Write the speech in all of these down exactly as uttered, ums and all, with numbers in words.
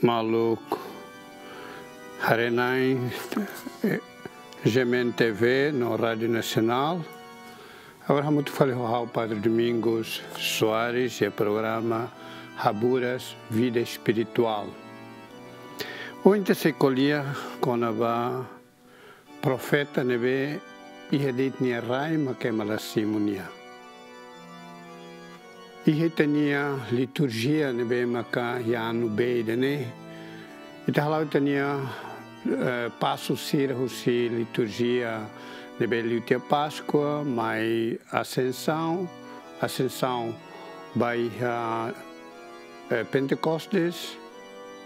Maluk haree-na'in, eh, G M N T V no Rádiu Nasionál. Agora hamutuk fali ho ha'u Padre Domingos Soares iha programa Haburas Vida Espirituál. Ohin ita sei ko'alia kona-ba profeta ne'ebé iha de'it nia rai maka ema la simu nia. Iha ita-nia liturjia ne'ebé maka iha anu B ida-ne'e, ita hala'o ita-nia, eh, pasu sira husi liturjia ne'ebé liu tiha Páskua, mai Asensaun, Asensaun ba iha, eh, Pentekostes,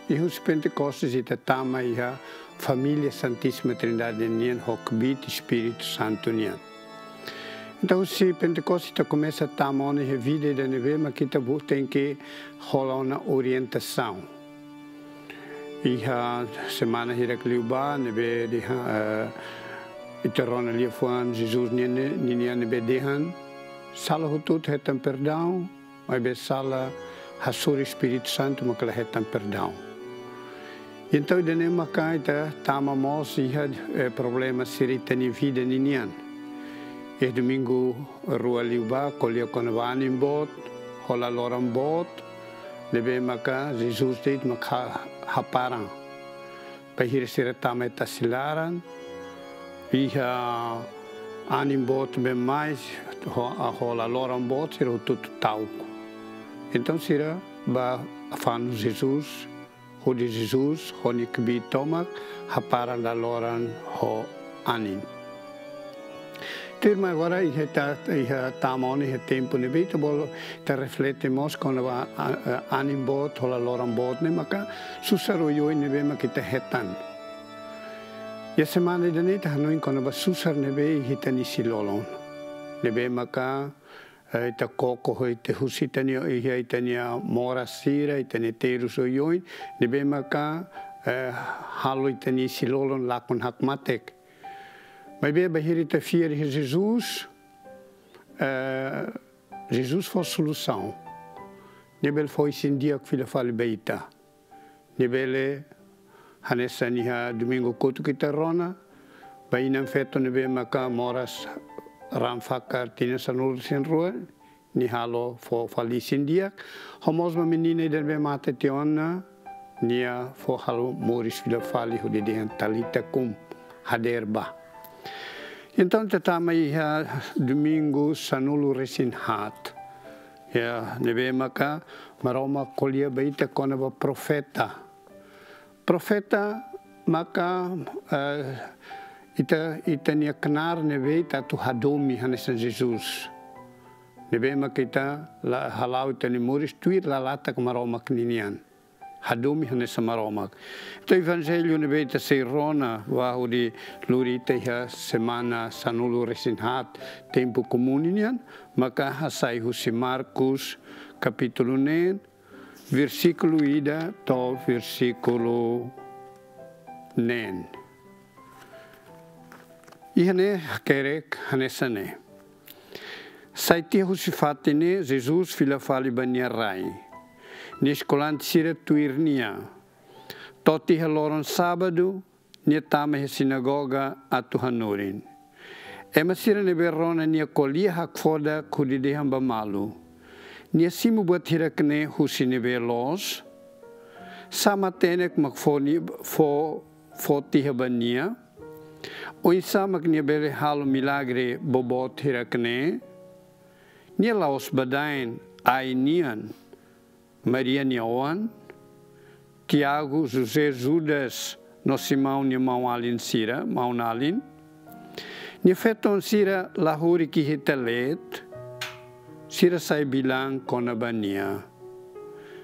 i husi Pentekostes ita tama iha família Santíssima Trindade nian ho kbiit Espíritu Santu nian. Entaun, husi Pentekostes ita komesa tama ona iha vida ida ne'ebé maka ita bo tenke hola ona orientasaun. Iha semana hirak liubá ne'ebé dehan, eh, ita rona liafuan Jesus nian, ninian ne'ebé dehan, sala hotu-hotu hetan perdaun, maibé sala hasoru Espíritu Santu maka la hetan perdaun. Entaun, ida-ne'e maka ita tama mós iha, eh, problema sira ita-nia vida ninian. Iha domingu rua liubá ko'alia kona-ba anin boot, hola loron boot, ne'ebé maka Jesus de'it maka haparan. Bainhira sira tama iha tasi laran, iha anin boot been mai, ho-, hola loron boot, sira hotu-hotu ta'uk. Entaun sira bá fanu Jesus, hodi Jesus ho nia kbiit tomak haparan dala loron ho anin. Tuirmai agora iha ita, iha tama ona iha tempu ne'ebé ita bolu, ita reflete mós kona-ba, a, a, anin boot, hola loron boot ne'e maka susar oioin ne'ebé maka ita hetan. Iha semana ida-ne'e ita hanoin kona-ba susar ne'ebé iha ita-nia isin-lolon. Ne'ebé maka, eh, ita koko ho ita husi ita-nia, iha ita-nia moras sira, ita-nia terus oioin, ne'ebé maka, eh, halo ita-nia isin-lolon lakon hakmatek. Maibé bainhira ita fiar iha Jesus, eh, Jesus fó solusaun. Nia bele fó isin-di'ak fila fali ba ita. Nia bele hanesan iha domingu kotuk ita rona, ba inan-feton ne'ebé maka moras raan fakar tinan sanulu-resin-rua, nia halo fó fali isin-di'ak, ho mós ba menina ida ne'ebé mate tiha ona, nia fó halo moris fila fali hodi dehan Talita kum, hadeer bá. Entaun, ita tama iha domingu sanulu-resin-haat. Ya, ne'ebé maka Maromak ko'alia ba ita kona-ba profeta. Profeta maka, eh, ita, ita-nia knaar ne'ebé ita atu hadomi hanesan Jesus. Ne'ebé maka ita la hala'o ita-nia moris tuir lalatak Maromak ninian. Hadomi hanesan Maromak. Entaun Evanjellu ne'ebé ita sei rona, ba hodi lori ita iha semana sanulu-resin-haat tempu komún nian, maka hasai husi Marcos kapítulu neen, versíkulu ida to'o versíkulu neen. Iha ne'e hakerek hanesan ne'e. Sai tiha husi fatin ne'e, Jesus fila fali ba nia rai. Nia eskolante sira tuir nia. To'o tiha loron sábadu, nia tama iha sinagoga atu hanorin. Ema sira ne'ebé rona nia ko'alia hakfodak hodi dehan ba malu: Nia simu buat hirak-ne'e husi ne'ebé loos? Sá matenek mak fó ni-, fó, fó tiha ba nia? Oinsá mak nia bele halo milagre boboot hirak-ne'e? Nia la'ós badaen ai nian, Maria nia oan, Tiago, José, Judas, no Simão nia maun-alin sira, maun-alin? Nia feton sira la horik iha ita leet? Sira sai bilan kona-ba nia.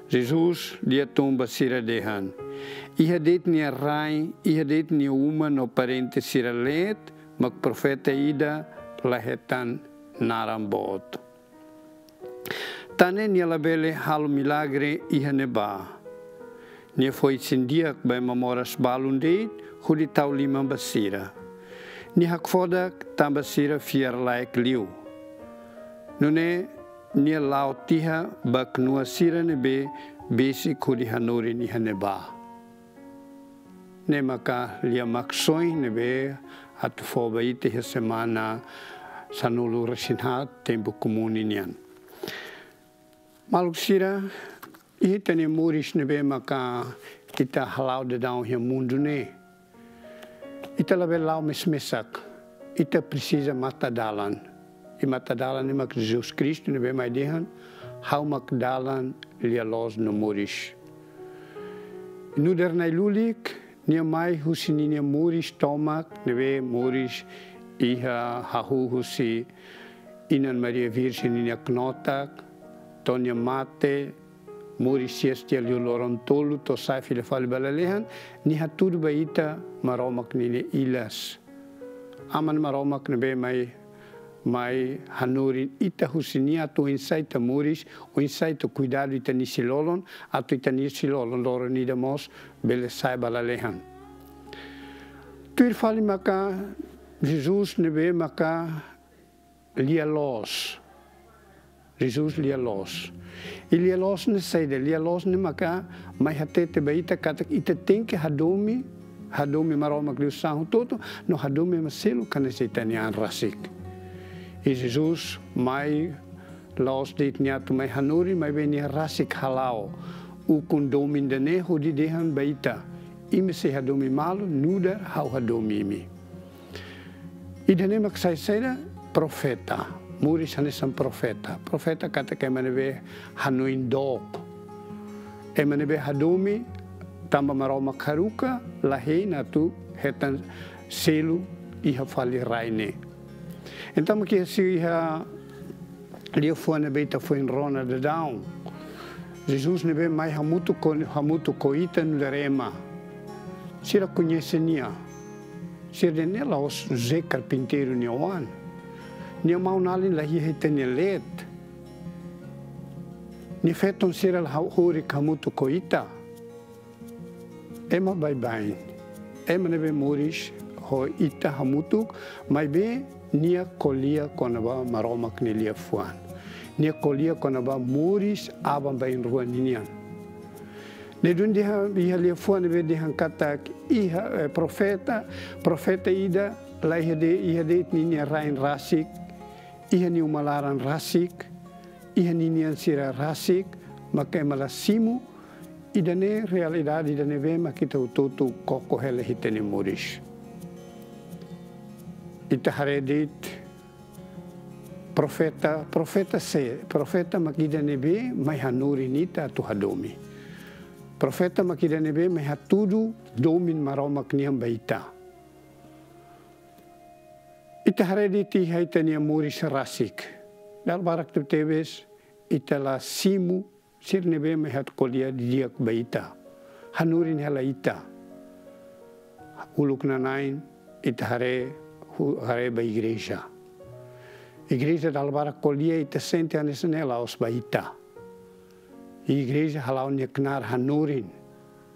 Jesus lia tun ba sira dehan: Iha de'it nia rai, iha de'it nia uma no parente sira leet, mak profeta ida la hetan naran boot. Tan ne'e nia labele halo milagre iha ne'ebá. Nia fó isin-di'ak ba ema moras balun de'it hodi tau liman ba sira. Nia hakfodak tanba sira fiar-laek liu. Nune'e nia la'o tiha ba knua sira ne'ebé besik hodi hanorin iha ne'ebá. ne'e maka lia maksoin ne'ebé atu fó ba ita iha semana sanulu-resin-haat tempu komún ninian. Maluk sira, iha ita-nia moris ne'ebé maka ita hala'o daudaun iha mundu ne'e, ita labele la'o mes-mesak. Ita presiza matan dalan. I matan dalan ne'e mak Jesus Kristu ne'ebé mai dehan: Ha'u mak dalan, lia-loos no moris. Nu'udar nai lulik, nia mai husi ninia moris tomak, ne'ebé moris iha hahú husi Inan Maria Virjen ninia knotak, to'o nia mate, moris hi'as tiha liu loron tolu, to'o sai fila fali ba lalehan, nia hatudu ba ita Maromak ninia ilas. Aman Maromak ne'ebé mai, mai hanorin ita husi nia atu oinsá ita moris, oinsá ita kuidadu ita-nia isin-lolon, atu ita-nia isin-lolon loron ida mós bele sai ba lalehan. Tuir fali maka Jesus ne'ebé maka lia-loos. Jesus lia-loos. I lia-loos ne'e saida? Lia-loos ne'e maka mai hatete ba ita katak ita tenke hadomi, hadomi Maromak liu-saan hotu-hotu, no hadomi ema seluk hanesan ita-nia an rasik. I Jesus mai la'ós de'it nia atu mai hanorin, maibé nia rasik hala'o ukun domin ida-ne'e hodi dehan ba ita: Imi sei hadomi malu nu'udar ha'u hadomi imi. Ida-ne'e mak sai saida? Profeta. Moris hanesan profeta. Profeta katak ema ne'ebé hanoin dook. Ema ne'ebé hadomi tanba Maromak haruka, la hein atu hetan selu iha fali rai ne'e. Entaun mak iha si iha liafuan ne'ebé ita foin rona daudaun. Jesus ne'ebé mai hamutuk ho, hamutuk ho ita nu'udar ema. Sira koñese nia. Sira dehan ne'e la'ós José karpinteiru nia oan. Nia maun-alin la iha ita-nia leet. Nia feton sira la ha-, horik hamutuk ho ita. Ema baibain. Ema ne'ebé moris ho ita hamutuk, maibé nia ko'alia kona-ba Maromak nia liafuan. Nia ko'alia kona-ba moris aban-bainrua ninian. Ne'e duni dehan, iha liafuan ne'ebé dehan katak iha, eh, profeta, profeta ida la iha de'it, iha de'it ninia rain rasik, iha nia uma laran rasik, iha ninian sira rasik, maka ema la simu. Ida-ne'e realidade ida ne'ebé mak ita hotu-hotu koko hela iha ita-nia moris. Ita haree de'it profeta, profeta sé, profeta mak ida ne'ebé mai hanorin ita atu hadomi. Profeta mak ida ne'ebé mai hatudu domin Maromak nian ba ita. Ita haree de'it iha ita-nia moris rasik. Dala barak tebetebes ita la simu sira ne'ebé mai hatudu ko'alia didi'ak ba ita. Hanorin hela ita. Uluknanain ita haree, hu-, haree ba igreja. Igreja dala barak ko'alia ita sente hanesan ne'e la'ós ba ita. Igreja hala'o nia knaar hanorin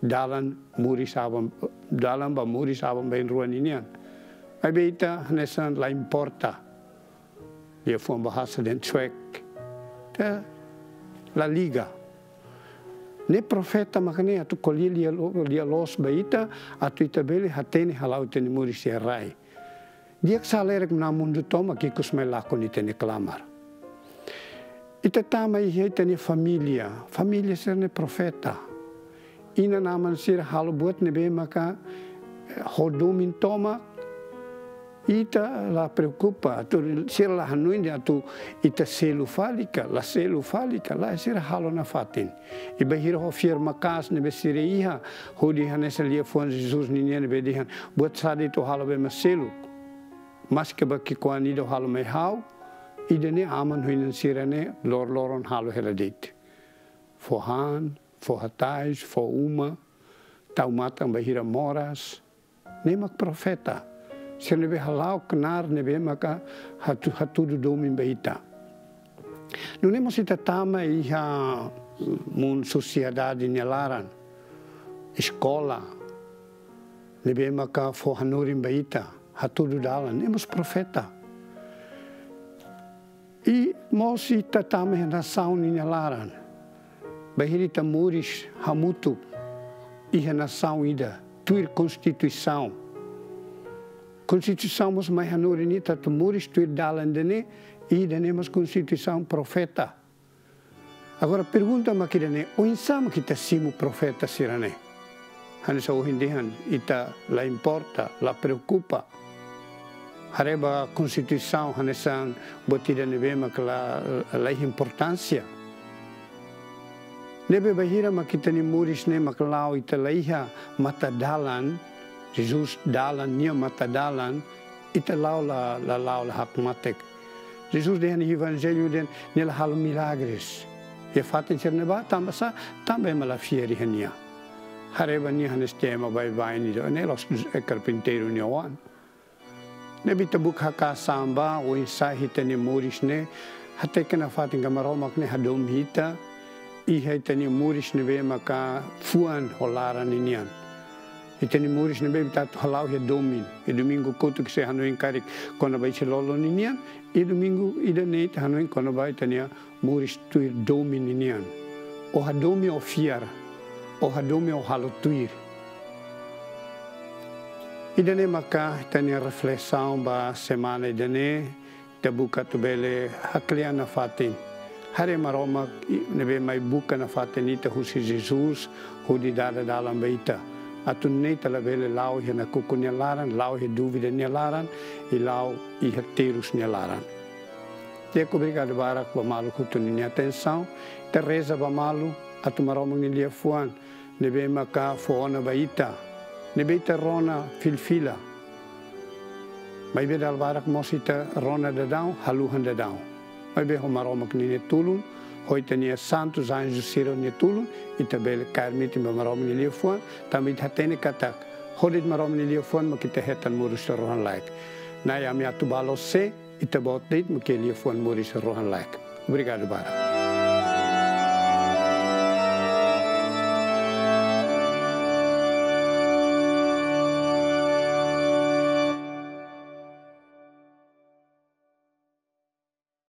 dalan moris aban, dalan ba moris aban-bainrua ninian. Maibé ita hanesan la importa. Liafuan bahasa dehan cuek. Ita la liga. Ne'e profeta maka ne'e atu ko'alia lia-lo-, lia-loos ba ita, atu ita bele hatene hala'o ita-nia moris iha rai. Di'ak salerik mna mundu tomak ikus mai lakon ita-nia klamar. Ita tama iha ita-nia família, família sira-ne'e profeta. Inan-aman sira halo buat ne'ebé maka, eh, ho domin tomak, ita la preokupa, atu sira la hanoin dehan atu ita selu fali ka, la selu fali ka, lae, sira halo nafatin. I bainhira ho fiar maka'as ne'ebé sira iha, hodi hanesan liafuan Jesus ninian ne'ebé dehan, buat sá de'it ó halo ba ema seluk, maske ba ki'ikoan ida ó halo mai ha'u, ida-ne'e aman ho inan sira-ne'e lor-, loron halo hela de'it. Fó han, fó hatais, fó uma, tau matan bainhira moras. Ne'e mak profeta. Sira ne'ebé hala'o knaar ne'ebé maka hatu-, hatudu domin ba ita. Nune'e mós ita tama iha mun sosiedade nia laran, eskola, ne'ebé maka fó hanorin ba ita, hatudu dalan, ne'e mós profeta. I mós ita tama iha nasaun ninia laran. Bainhira ita moris hamutuk iha nasaun ida, tuir konstituisaun. Konstituisaun mós mai hanorin ita atu moris tuir dalan ida-ne'e, i ida-ne'e mós konstituisaun profeta. Agora pergunta mak ida-ne'e, oinsá mak ita simu profeta sira-ne'e? Hanesan ohin dehan, ita la importa, la preokupa. Haree ba konstituisaun hanesan buat ida ne'ebé mak la, la iha importánsia. Ne'ebé bainhira mak ita-nia moris ne'e mak la'o ita la iha matadalan, Jesus dalan, nia matadalan, ita la'o la, la la'o la hakmatek. Jesus dehan iha Evanjellu dehan nia la halo milagres. Iha fatin sira-ne'ebá tanba sá, tanba ema la fiar iha nia. Haree ba nia hanesan ema baibain ida, ne'e la'ós, eh, karpinteiru nia oan. Ne'ebé ita buka haka'as an ba oinsá ita-nia moris ne'e, hateke nafatin katak Maromak ne'e hadomi ita, iha ita-nia moris ne'ebé maka fuan ho laran ninian. Ita-nia moris ne'ebé ita atu hala'o iha domin. Iha domingu kotuk ita sei hanoin karik kona-ba ita-nia lolon ninian, iha domingu ida-ne'e ita hanoin kona-ba ita-nia moris tuir domin ninian. Ó hadomi ó fiar, ó hadomi ó halo tuir. Ida-ne'e maka ita-nia reflesaun ba semana ida-ne'e, ita buka atu bele haklean nafatin. Haree Maromak i-, ne'ebé mai buka nafatin ita husi Jesus, hodi dada dalan ba ita. Atu nune'e ita labele la'o iha nakukun nia laran, la'o iha dúvida nia laran, i la'o iha terus nia laran. Di'ak, obrigadu barak ba maluk hotu ninia atensaun. Ita reza ba malu atu Maromak nia liafuan ne'ebé maka fó ona ba ita, ne'ebé ita rona fila-fila. Maibé dala barak mós ita rona daudaun, haluha daudaun. Maibé ho Maromak ninia tulun, ho ita-nia santus anju sira-nia tulun, ita bele kaer metin ba Maromak nia liafuan, tanba ita hatene katak, ho de'it Maromak nia liafuan mak ita hetan moris rohan-laek. Na'i, ami atu bá loos sé, ita-Boot de'it mak iha liafuan moris rohan-laek. Obrigadu barak.